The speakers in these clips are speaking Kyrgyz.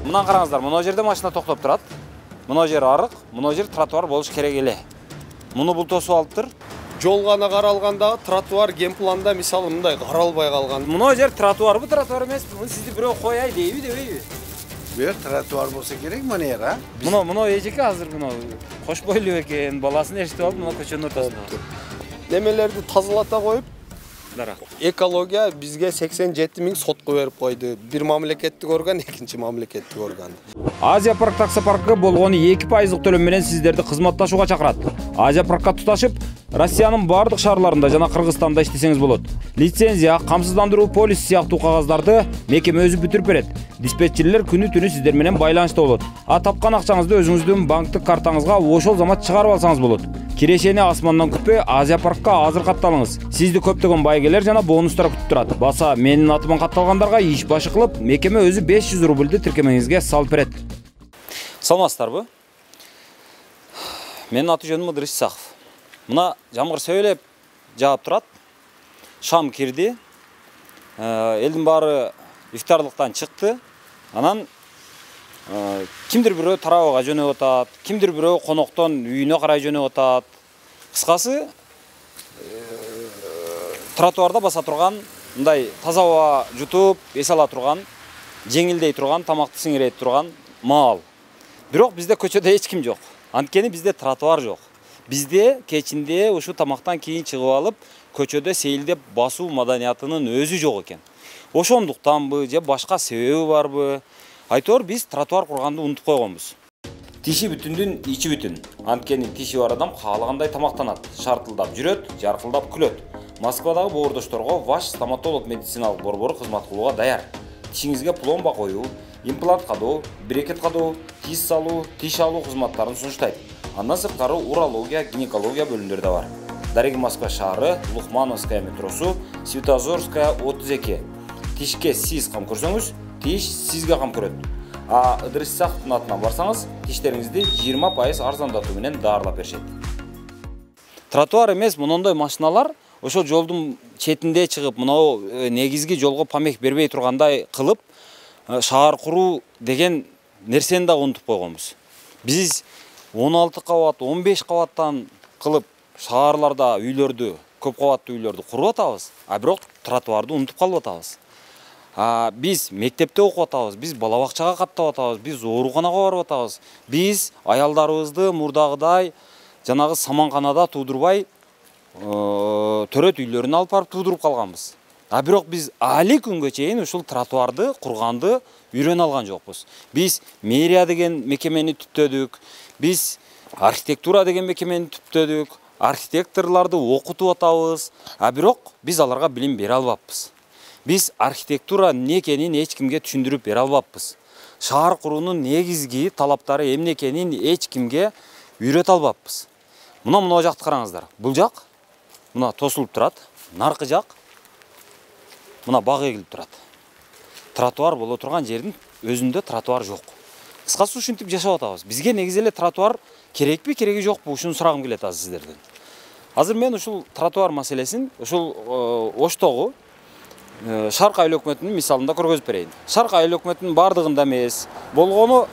мындан караңыздар, мына жерде машина токтоп турат. Мына жер арык, мына жер тротуар болуш керек эле. Муну бул тосуп алыптыр. Жол гана каралганда тротуар генпланда мисалы мындай каралбай калган. Мына жер тротуарбы, тротуар эмеспи? Муну сизди бирөө кояй дейби, дебейби? Бер тротуар болсо керек мына жер, а? Мына эжеке азыр мына кош бойлуу экен, баласын эшитип алып, мына көчөнүн ортосунда. Немелерди тазалата коюп, Дарак. экология бизге 87 000 сотко берип койду. Бир мамлекеттик орган, экинчи мамлекеттик орган. Азия парк таксопаркы болгону 2% төлөм менен сиздерди кызматташууга чакырат. Азия паркка туташып, Россиянын бардык шаарларында жана Кыргызстанда иштесеңиз болот. Лицензия, камсыздандыруу полис сыяктуу кагаздарды мекеме өзү бүтүрүп берет. Диспетчерлер күнү-түнү сиздер менен байланышта болот. А тапкан акчаңызды өзүңүздүн банктык картаңызга ошол замат чыгарып алсаңыз болот. Кирешени асмандан күтпөй Азия паркка азыр катталыңыз. Сизди көптөгөн байгелер жана бонустар күтүп турат. Баса менин атыман катталгандарга иш башы кылып, мекеме өзү 500 рубльды тиркемеңизге салып берет. Саламатсыздарбы? Менин аты жөнүм Ыдырыс Исаков. Мына жамгыр сөйлөп жаап турат. Шам кирди. Элдин баары ифтарлыктан чыкты. Анан кимдир бирөө тарабага жөнөп атат, кимдир бирөө коноктон үйүнө карай жөнөп атат. Кыскасы, тротуарда баса турган, мындай таза аба жутуп, эс ала турган, жеңилдей турган, тамакты сиңирейт турган маал. Бирок бизде көчөдө эч ким жок. Анткени бизде тротуар жок. Бизде кечинде ушу тамактан кийин чыгып алып, көчөдө сейилдеп басуу маданиятынын өзү жок экен. Ошондуктанбы же башка себеби барбы? Айтор биз тротуар курганды унутуп койгонбуз. Тиши бүтүндүн ичи бүтүн. Анткени тиши бар адам каалагандай тамактанат, шартылдап жүрөт, жаркылдап күлөт. Москвадагы боордошторго ваш стоматолог медициналык борбору кызмат кылууга даяр. Тишиңизге пломба коюу, имплант кадоо, брекет кадоо, тиш салуу, тиш алуу кызматтарын сунуштайт. Андан сырткары урология, гинекология бөлүмдөрү да бар. Дареги Москва шаары, Лухмановская метросу, Светозорская 32. Тишке сиз кам көрсөңүз, тиш сизге кам көрөт. А Ыдырыс Исаковдун атынан барсаңыз, тиштериңизди 20% арзандатуу менен даарылап беришет. Тротуар эмес, монондой машиналар ошо жолдун четинде чыгып, мынау негизги жолго помех бербей тургандай кылып, шаар куруу деген нерсени да унутуп койгонбуз. Биз 16 кабат, 15 кабаттан кылып шаарларда үйлөрдү, көп кабаттуу үйлөрдү куруп атабыз, а бирок тротуарды унутуп калып атабыз. Биз мектепте окуп атабыз, биз бала бакчага каттап атабыз, биз ооруканага барып атабыз. Биз аялдарыбызды мурдагыдай жанагы саманканада туудурбай, төрөт үйлөрүнө алып барып туудуруп калганбыз. А бирок биз али күнгө чейин ушул тротуарды курганды үйрөнө алган жокпуз. Биз мэрия деген мекемени түптөдүк, биз архитектура деген мекемени түптөдүк, архитекторлорду окутуп атабыз, а бирок биз аларга билим бере албаппыз. Биз архитектура эмне экенин эч кимге түшүндүрүп бере албаппыз. Шаар куруунун негизги талаптары эмне экенин эч кимге үйрөтө албаппыз. Мына жакты караңыздар. Бул жак мына тосулуп турат, наркы жак мына баг эгилип турат. Тротуар боло турган жердин өзүндө тротуар жок. Кыскасы ушинтип жашап атабыз. Бизге негизи эле тротуар керекпи, кереги жокпу? Ушуну сурагым келет азыр сиздерден. Азыр мен ушул тротуар маселесин ушул Оштогу Шарк айыл өкмөтүнүн мисалында көргөзүп берейин. Шарк айыл өкмөтүнүн бардыгында эмес, болгону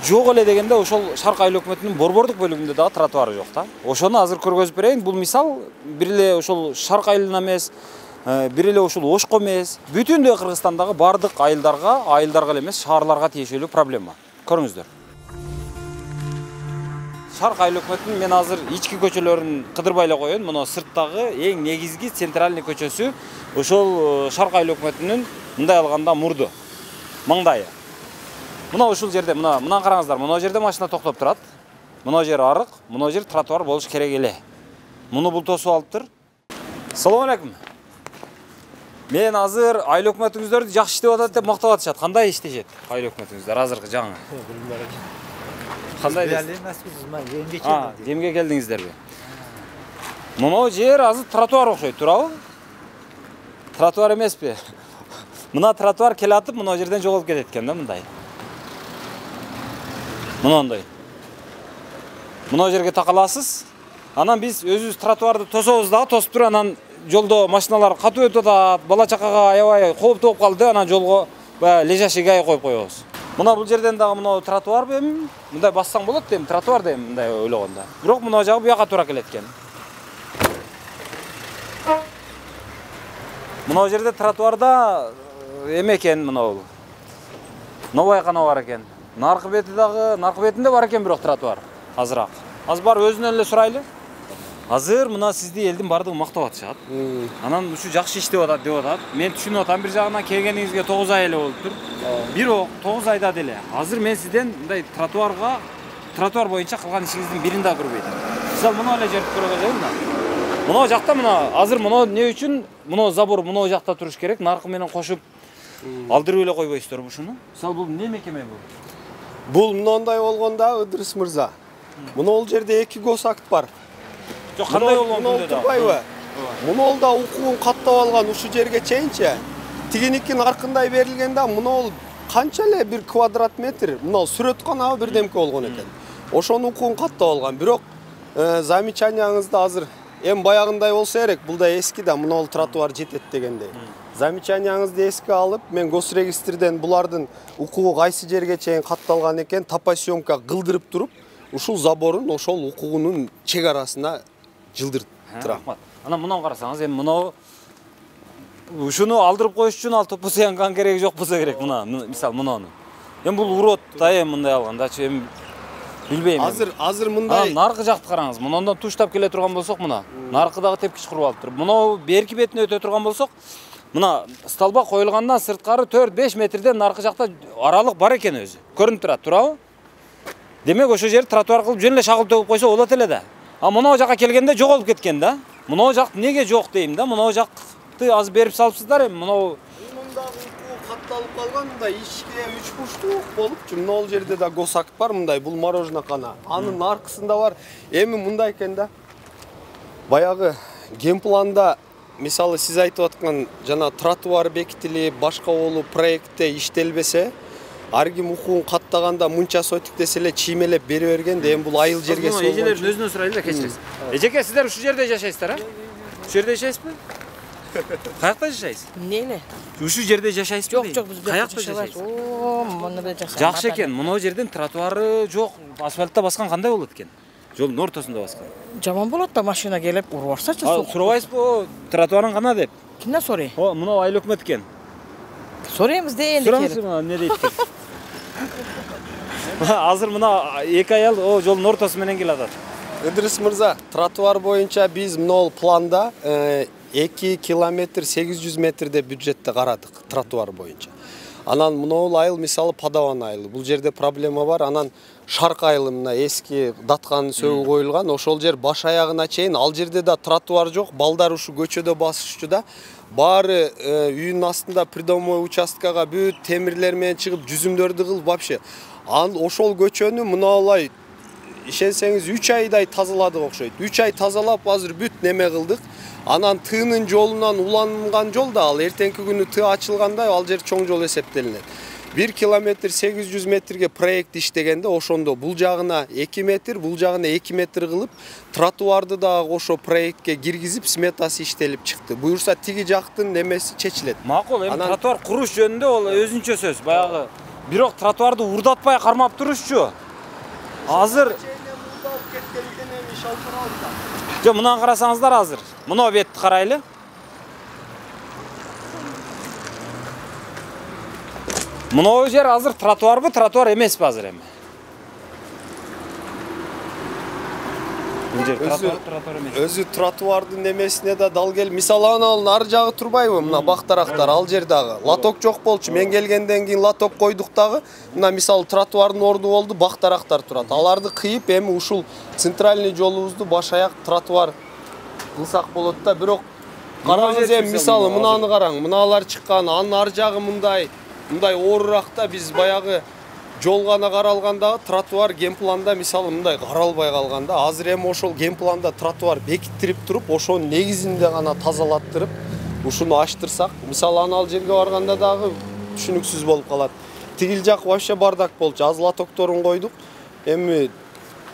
жок эле дегенде ошол Шарк айыл өкмөтүнүн борбордук бөлүгүндө дагы тротуары жок да. Ошону азыр көргөзүп берейин. Бул мисал бир эле ошол Шарк айылына эмес, бир эле ушул Ошко эмес, бүтүндөй Кыргызстандагы бардык айылдарга эле эмес, шаарларга тиешелүү проблема. Көрүңүздөр. Шарк айыл өкмөтүнүн мен азыр ички көчөлөрүн кыдырбай эле коеюн. Мына сырттагы эң негизги центральный көчөсү ошол Шарк айыл өкмөтүнүн мындай алганда мурду, маңдайы. Мына ушул жерде, мындан караңыздар, мына жерде машина токтоп турат. Мына жер арык, мына жер тротуар болуш керек эле. Муну бул тосуп алыптыр. Салам алейкум. Мен азыр айыл өкмөтүңүздөрдү жакшы иштеп атат деп мактап атышат. Кандай иштешет айыл өкмөтүңүздөр азыркы жаңы? Кандай эмге келдиңиздерби? Мына жер азыр тротуар окшойт, туурабы? Тротуар эмеспи? Мына тротуар келе атып, мына жерден жоголуп кетет экен да, мындай. Мынандай. Мына жерге такаласыз. Анан биз өзүбүз тротуарды тособуз дагы, тосуп туруп анан жолдо машиналар катып өтүп атат, бала чакага аябай кооптуу болуп калды, анан жолго лежачийге коюп коебуз. Мына бул жерден дагы мына тротуарбы эми? Мындай бассаң болот дейм, тротуар дейм мындай ойлогондо. Бирок мына жагы буяка туура келет экен. Мына жерде тротуарда эме экен мына бул. Новая кана бар экен. Наркы бетинде бар экен бирок тротуар. Азыраак. Азыр бар өзүнөн эле сурайлы. Азыр мына сизди элдин бардыгы мактап атышат. Анан ушу жакшы иштеп атат деп атат. Мен түшүнүп атам, бир жагынан келгениңизге 9 ай эле болуптур. Бирок 9 айда деле азыр мен сизден мындай тротуар боюнча кылган ишиңиздин бирин да көрбөйт. Мисалы мына эле жерди көргөзөйүн да. Мына жакта мына азыр мына эмне үчүн мына забор мына жакта туруш керек, наркы менен кошуп алдырып эле койбойсуздарбы ушуну? Мисалы бул эмне мекеме бул? Бул мындай болгондо Ыдырыс мырза. Мына ол жерде 2 госакт бар. Жок, кандай болгон күндө да? Мына да укугун каттап алган ушу жерге чейинчи. Тигиникин аркындай берилгенде мына ол канча эле 1 квадрат метр, мына сүрөтканабы бирдемке болгон экен. Ошону укугун каттап алган. Бирок замечанияңызды азыр эми баягындай болсо керек, бул да эски да, мына тротуар жетет дегендей. Замечанияңызды эске алып, мен госрегистрден булардын укугу кайсы жерге чейин катталган экен тапа съемка кылдырып туруп, ушул заборун ошол укугунун чек арасына жылдырып турам. Анан мынаны карасаңыз, эми мына ушуну алдырып коюш үчүн ал топосоянган кереги жок болсо керек мына, мисалы мынаны. Эми бул урот да эми мындай алгандачы эми билбейм. Азыр мындай наркы жакты караңыз. Мындан туштап келе турган болсок мына, наркыдагы тепкич куруп алыптыр. Мына берки бетине өтө турган болсок, мына столба коюлгандан сырткары 4-5 метрден наркы жакта аралык бар экен өзү. Көрүнүп турат, туурабы? Демек ошо жер тротуар кылып жөн эле шагыл төгүп койсо болот эле да. А мына жака келгенде жоголуп кеткен да. Мына жак неге жок дейм да. Мына жакты азыр берип салыпсыздар эми мына мындагы укугу катталып калган да ишке 3 бурчтуу болупчу. Мына ол жерде да госакт бар мындай, бул мороженое кана. Анын аркысында бар. Эми мындай экен да. Баягы генпланда мисалы сиз айтып аткан жана тротуар бекитилип, башка болуп проектте иштелбесе, ар ким укугун каттаганда мынча сотик десе эле чиймелеп бере бергенде эми бул айыл жерге болгон. Эжелердин өзүнөн сурайлы да, кечиресиз. Эжеке, сиздер ушул жерде жашайсыздар, а? Ушул жерде жашайсызбы? Каякта жашайсыз? Эмне? Ушул жерде жашайсызбы? Жок, биз каякта жашайсыз? О, муну да жакшы. Жакшы экен. Мына жерден тротуары жок. Асфальтта баскан кандай болот экен? Жолдун ортосунда баскан. Жаман болот да, машина келип уруп барсачы. Сурабайсызбы, тротуарың кана деп? Кимден сурай? О, мына айыл өкмөт экен. Сурайбыз да энди келип. Сураңыз, эмне дейт экен? Азыр мына эки аял жолдун ортосу менен келе атат. Ыдырыс мырза, тротуар боюнча биз мына планда 2 километр 800 метрде бюджетте карадык тротуар боюнча. Анан мына айыл мисалы Падаван айылы. Бул жерде проблема бар. Анан Шарк айылы мына эски датканын сөгү коюлган. Ошол жер баш аягына чейин, ал жерде да тротуар жок. Балдар ушу көчөдө басышчу да. Баары үйүнүн астында придомой участкага бүт темирлер менен чыгып жүзүмдөрдү кылып вообще. Ошол көчөнү мына ишенсеңиз 3 айдай тазаладык окшойт. 3 ай тазалап азыр бүт неме кылдык. Анан тыынын жолунан уланган жол да ал эртеңки күнү тыы ачылганда ал жер чоң жол эсептелинет. 1 километр 800 метрге проект иштегенде ошондо бул жагына 2 метр, бул жагына 2 метр кылып, тротуарды да ошо проектке киргизип, сметасы иштелип чыкты. Буюрса тиги жактын немеси чечилет. Макул, эми тротуар куруш жөнүндө ол өзүнчө сөз, баягы. Бирок тротуарды урдатпай кармап турушчу. Азыр жок, мынаны карасаңыздар азыр. Мына бетти карайлы. Мына жер азыр тротуарбы, тротуар эмеспи азыр эми? Өзү тротуардын немесине да дал кел. Мисалы анын ар жагы турбайбы? Мына бактарактар ал жер дагы. Лоток жок болчу. Мен келгенден кийин лоток койдук дагы. Мына мисалы тротуардын орду болду, бактарактар турат. Аларды кыйып, эми ушул центральный жолубузду баш аяк тротуар кылсак болот да. Бирок караңыз эми мисалы мынаны караң. Мыналар чыккан, анын ар жагы мындай оорураак да. Биз баягы жол гана каралганда тротуар генпланда мисалы мындай каралбай калганда, азыр эми ошол генпланда тротуар бекиттирип туруп, ошонун негизинде гана тазалаттырып, ушуну ачтырсак, мисалы анал жерге барганда дагы түшүнүксүз болуп калат. Тигил жак вообще бардак болчу. Аз лотокторун койдук. Эми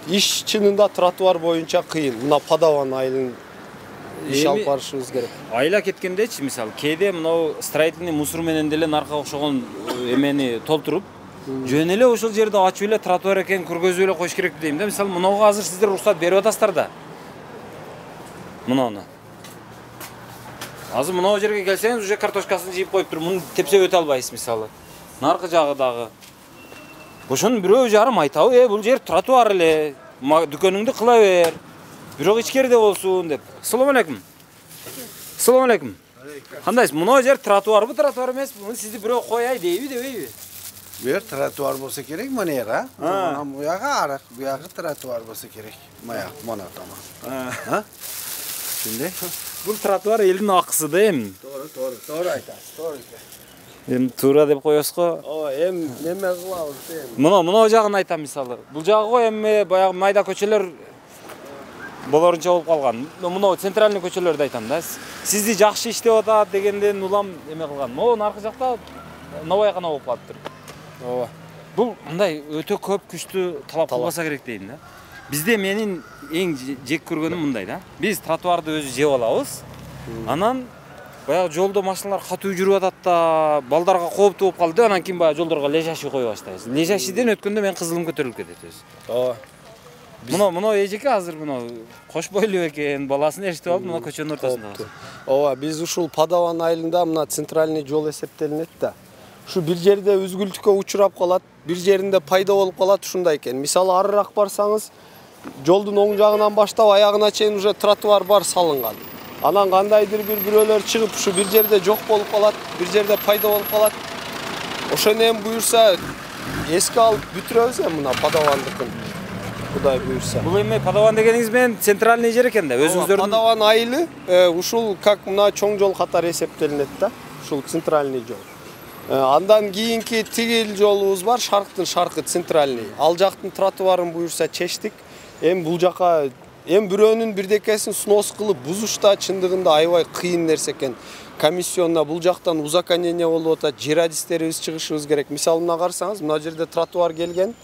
иш чынында тротуар боюнча кыйын. Мына Падаван айылын иш алып барышыбыз керек. Айла кеткендечи, мисалы, кээде мынау строительный мусор менен деле наркы окшогон эмени толтуруп, Жөн эле ошол жерди ачып эле тротуар экенин көргөзүп эле коюш керек дейм да. Мисалы, мынага азыр сиздер уруксат берип атасыздар да. Мынаны. Азыр мына жерге келсеңиз, уже картошкасын жыйып коюптур. Муну тепсе өтө албайсыз мисалы. Наркы жагы дагы. Ошонун бирөө жарым айтабы, бул жер тротуар эле, дүкөнүңдү кыла бер. Бирок ичкериде болсун деп. Ассаламу алейкум. Ассаламу алейкум. Кандайсыз? Мына жер тротуарбы, тротуар эмеспи? Муну сизди бирөө кояй дейби, дебейби? Bu yer тротуар болса керек, мына жер, а? Bu жагы арак, bu жагы тротуар болса керек. Мына тамам. Şimdi Бул тротуар элдин акысы да эми. Doğru айтасыз, doğru. Эми туура деп коесуз го. Ооба, эми неме кылабыз эми? Мына жагын айтам мисалы. Бул жагы го эми баягы майда көчөлөр болорунча болуп калган. Мына центральный көчөлөрдү айтам да. Сизди жакшы иштеп атат дегенден улам эме кылган. Могу наркы жакта набайкана болуп калыптыр. Ооба. Бул мындай өтө көп күчтүү талап кылбаса керек дейм да. Бизде менин эң жек көргөнүм мындай да. Биз тротуарды өзү жеп алабыз. Анан баягы жолдо машиналар катуу жүрүп атат да, балдарга кооптуу болуп калды. Анан кийин баягы жолдорго лежачий кое баштайбыз. Лежачийден өткөндө мен кызылым көтөрүлүп кетет өзү. Ооба. Мына эжеке азыр кош бойлуу экен, баласын эриштип алып, мына көчөнүн ортосунда. Ооба, биз ушул Падаван айылында мына центральный жол эсептелинет да. Ушу бир жерде үзгүлтүккө учурап калат, бир жеринде пайда болуп калат, ушундай экен. Мисалы, арыраак барсаңыз, жолдун оң жагынан баштап аягына чейин уже тротуар бар салынган. Анан кандайдыр бирөөлөр чыгып ушу бир жерде жок болуп калат, бир жерде пайда болуп калат. Ошону эми буюрса эске алып бүтүрөбүз эми мына Падавандыкын. Кудай буюрса. Бул эми Падаван дегениңиз менен центральный жер экен да, өзүңүздөрдүн. Падаван айылы ушул как мына чоң жол катары эсептелинет да. Ушул центральный жол. Андан кийинки тигил жолубуз бар, шарктын шаркы центральный. Ал жактын тротуарын буюрса чечтик. Эми бул жака бирөөнүн бирдекесин снос кылып бузушта чындыгында аябай кыйын нерсе экен. Комиссионна бул жактан узаконение болуп атат, жер адистерибиз чыгышыбыз керек. Мисалы, мына карасаңыз, мына жерде тротуар келген,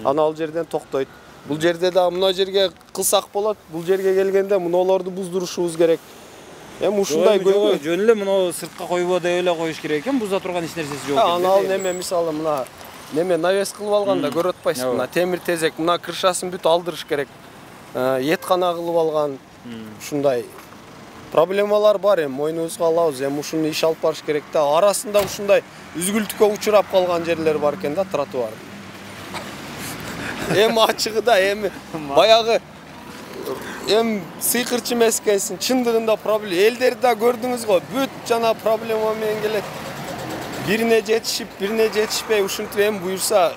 ана ал жерден токтойт. Бул жерде да мына жерге кылсак болот, бул жерге келгенде мунуларды буздурушубуз керек. Эми ушундай көйгөй. Жөн эле мына сыртка койбо деп эле коюш керек экен, буза турган эч нерсеси жок. Ана ал неме мисалы мына неме навес кылып алганда көрүп атпайсызбы? Мына темир тезек, мына крышасын бүт алдырыш керек. Еткана кылып алган. Ушундай проблемалар бар эми, мойнубузга алабыз. Эми ушуну иш алып барыш керек да. Арасында ушундай үзгүлтүккө учурап калган жерлер бар экен да, тротуар. Эми ачыгы да, эми баягы сыйкырчы эмес экенсиң, чындыгында проблема. Элдерди да көрдүңүз го, бүт жана проблема менен келет. Бирине жетишип, бирине жетишпей, ушинтип эми буюрса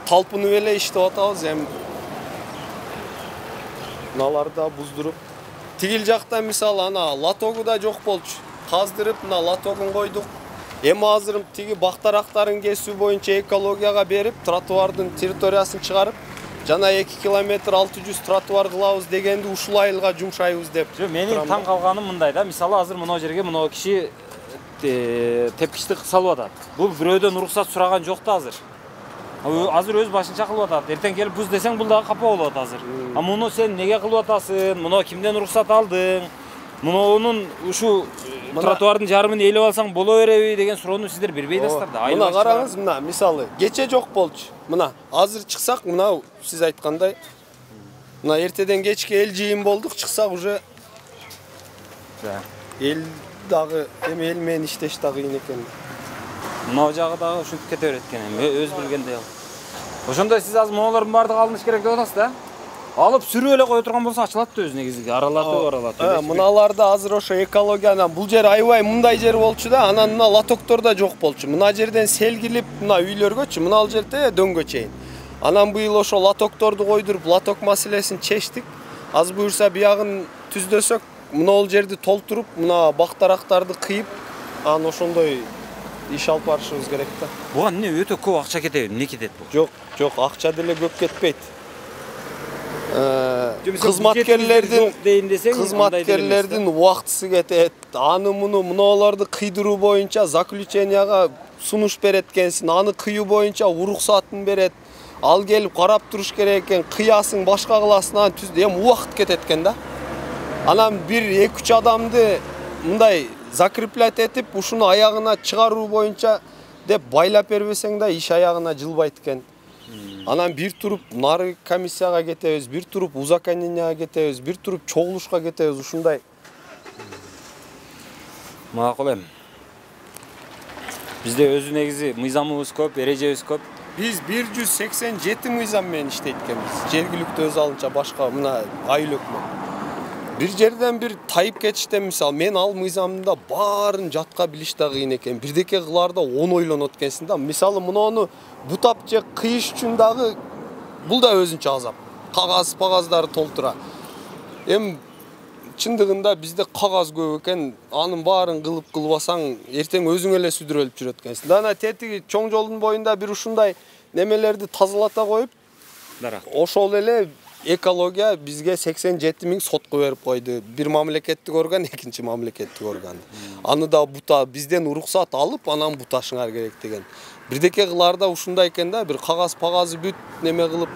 талпынып эле иштеп атабыз эми. Мыналарды да буздуруп. Тигил жакта мисалы ана лотогу да жок болчу. Каздырып, мына лотогун койдук. Эми азыр тиги бактарактарын кесүү боюнча экологияга берип, тротуардын территориясын чыгарып, жана 2 километр 600 тротуар кылабыз дегенди ушул айылга жумшайбыз деп. Менин таң калганым мындай да, мисалы азыр мына жерге мына киши тепкичти салып атат. Бул бирөөдөн уруксат сураган жок да азыр. Азыр өз башынча кылып атат. Эртең келип буз десең бул дагы капа болуп атат азыр. Муну сен неге кылып атасың? Муну кимден уруксат алдың? Мунун ушу тротуардын жарымын ээлеп алсаң боло береби деген суроону сиздер бербей атасыздар да. Мына караңыз, мына мисалы кече жок болчу. Мына азыр чыксак, мына сиз айткандай мына эртеден кечке эл жыйын болдук, чыксак уже эл дагы эми эл менен иштеш да кыйын экен. Мына жагы дагы ушинтип кете берет экен, өз билгендей ал. Ошондой сиз азыр монулардын баардыгы алыныш керек деп атасыз да? Алып сүрүп эле кое турган болсо ачылат да өзү негизи, аралатып. Мыналарда азыр ошо экологиядан бул жер аябай мындай жер болчу да, анан мына лотоктор да жок болчу. Мына жерден сел килип, мына үйлөргөчү, мына ал жерде дөңгө чейин. Анан быйыл ошо лотокторду койдуруп, лоток маселесин чечтик. Аз буюрса биягын түздөсөк, мына ал жерди толтуруп, мына бактарактарды кыйып, анан ошондой иш алып барышыбыз керек да. Буга эмне өтө көп акча кетеби? Эмне кетет бул? Жок, акча деле көп кетпейт. Кызматкерлердин убактысы кетет. Аны муну мыналарды кыйдыруу боюнча заключенияга сунуш берет экенсиң, аны кыюу боюнча уруксатын берет. Ал келип карап туруш керек экен, кыясың, башка кыласың, анан эми убакыт кетет экен да. Анан бир 2-3 адамды мындай закреплять этип, ушуну аягына чыгаруу боюнча деп байлап бербесең да иш аягына жылбайт экен. Анан бир туруп нары комиссияга кетебиз, бир туруп узаконенияга кетебиз, бир туруп чогулушка кетебиз, ушундай. Макул эми. Бизде өзү негизи мыйзамыбыз көп, эрежебиз көп. Биз 187 мыйзам менен иштейт экенбиз. Жергиликтүү өз алынча башка мына айыл өкмөт. Бир жерден бир тайып кетиштен мисалы мен ал мыйзамда баарын жатка билиш да кыйын экен. Бирдеке кылаарда 10 ойлонот экенсиң да. Мисалы муну бутап же кыйыш үчүн дагы бул да өзүнчө азап. Кагаздары толтура. Эми чындыгында бизде кагаз көп экен. Анын баарын кылбасаң, эртең өзүң эле сүдүрөлүп жүрөт экенсиң. Дана тетиги чоң жолдун боюнда бир ушундай немелерди тазалата коюп, ошол эле экология бизге 87 000 сотко берип койду. Бир мамлекеттик орган, экинчи мамлекеттик орган. Аны да бута бизден уруксат алып, анан буташыңар керек деген. Бирдеке кылаарда ушундай экен да, бир кагазы бүт неме кылып.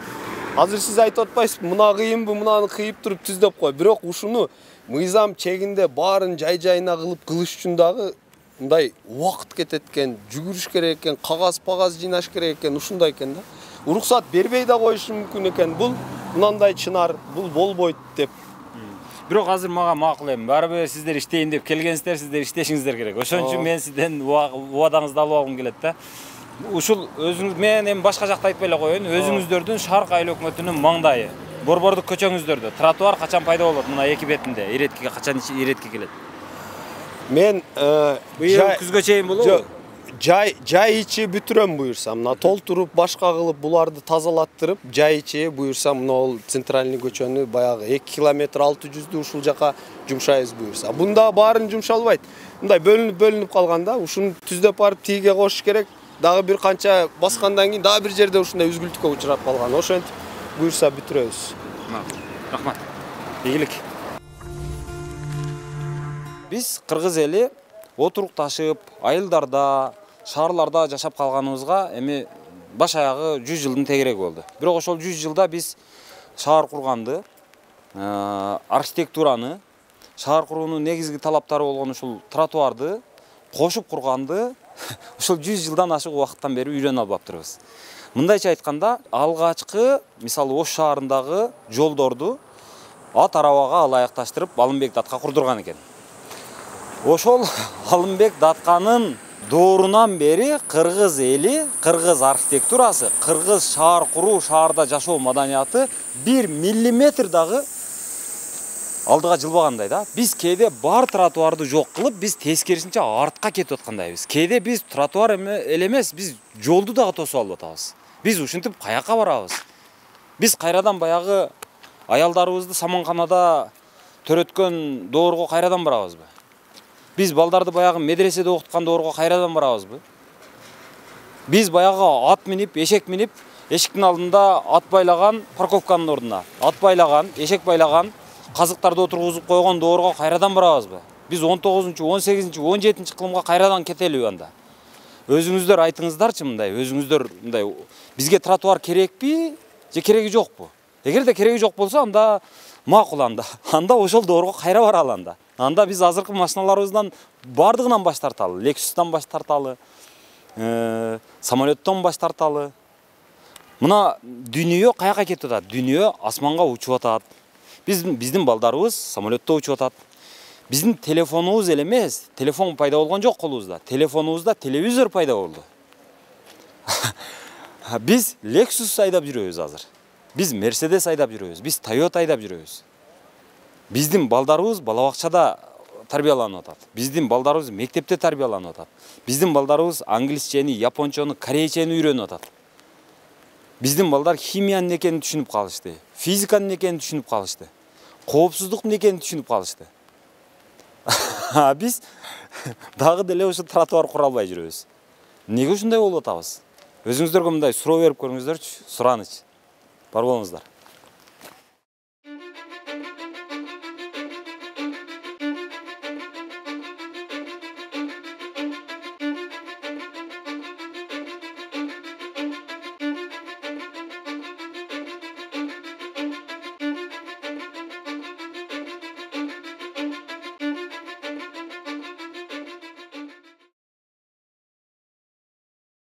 Азыр сиз айтып атпайсызбы, мына кыйынбы, мунаны кыйып туруп түздөп кой. Бирок ушуну мыйзам чегинде баарын жай-жайына кылыш үчүн дагы мындай убакыт кетет экен, жүгүрүш керек экен, кагаз жыйнаш керек экен, ушундай экен да. Уруксат бербей да коюшу мүмкүн экен. Бул мынандай чынар, бул болбойт деп. Бирок азыр мага макул эми. Барыбир сиздер иштейин деп келгенсиздер, сиздер иштешиңиздер керек. Ошон үчүн мен сизден убадаңызды алып алгым келет да. Ушул өзүңүз мен эми башка жакта айтпай эле коеюн. Өзүңүздөрдүн Шарк айыл өкмөтүнүн маңдайы, борбордук көчөңүздөрдө тротуар качан пайда болот? Мына эки бетинде иреткиге качан иретки келет? Мен быйыл күзгө чейин болобу? Жай ичи бүтүрөм буюрсам, мына толтуруп башка кылып буларды тазалаттырып, жай ичи буюрсам, мына центральный көчөнү баягы 2 километр 600дү ушул жака жумшайбыз буюрса. Бунда баарын жумшалбайт. Мындай бөлүнүп калганда, ушуну түздөп барып тиге кошуш керек. Дагы бир канча баскандан кийин дагы бир жерде ушундай үзгүлтүккө учурап калган. Ошентип буюрса бүтүрөбүз. Рахмат. Ийгилик. Биз кыргыз эли отурукташып, айылдарда, шаарларда жашап калганыбызга эми баш аягы 100 жылдын тегереги болду. Бирок ошол 100 жылда биз шаар курганды, архитектураны, шаар куруунун негизги талаптары болгон ушул тротуарды кошуп курганды ушул 100 жылдан ашык убакыттан бери үйрөнө албаптырбыз. Мындайча айтканда, алгачкы, мисалы Ош шаарындагы жолдорду ат арабага ылайыкташтырып Алымбек Датка курдурган экен. Ошол Алымбек Датканын доорунан бери кыргыз эли, кыргыз архитектурасы, кыргыз шаар куруу, шаарда жашоо маданияты 1 миллиметр дагы алдыга жылбагандай да. Биз кээде бар тротуарды жок кылып, биз тескерисинче артка кетип аткандайбыз. Кээде биз тротуар эле эмес, биз жолду дагы тосуп алып атабыз. Биз ушинтип каяка барабыз? Биз кайрадан баягы аялдарыбызды саманканада төрөткөн доорго кайрадан барабызбы? Биз балдарды баягы медреседе окуткан доорго кайрадан барабызбы? Биз баягы ат минип, эшек минип, эшиктин алдында ат байлаган парковканын ордуна, ат байлаган, эшек байлаган, казыктарды отургузуп койгон доорго кайрадан барабызбы? Биз 19-чу, 18-чи, 17-чи кылымга кайрадан кетелиби анда? Өзүңүздөр айтыңыздарчы мындай, өзүңүздөр мындай бизге тротуар керекпи, же кереги жокпу? Эгерде кереги жок болсо, анда макул анда ошол доорго кайра баралы анда. Анда биз азыркы машиналарыбыздан бардыгынан баш тарталы, Lexus'тан баш тарталы, самолеттон баш тарталы. Мына дүйнө каяка кетип атат? Дүйнө асманга учуп атат. Биздин балдарыбыз самолетто учуп атат. Биздин телефонубуз эле эмес, телефон пайда болгон жок колубузда. Телефонубузда телевизор пайда болду. Биз Lexus айдап жүрөбүз азыр. Биз Mercedes айдап жүрөбүз, биз Toyota айдап жүрөбүз. Биздин балдарыбыз бала бакчада тарбияланып атат. Биздин балдарыбыз мектепте тарбияланып атат. Биздин балдарыбыз англисчени, япончону, корейчени үйрөнүп атат. Биздин балдар химиянын экенин түшүнүп калышты, физиканын экенин түшүнүп калышты, коопсуздуктун экенин түшүнүп калышты. Биз дагы деле ошо тротуар кура албай жүрөбүз. Неге ушундай болуп атабыз? Өзүңүздөргө мындай суроо берип көрүңүздөрчү, сураныч. Бар болуңуздар.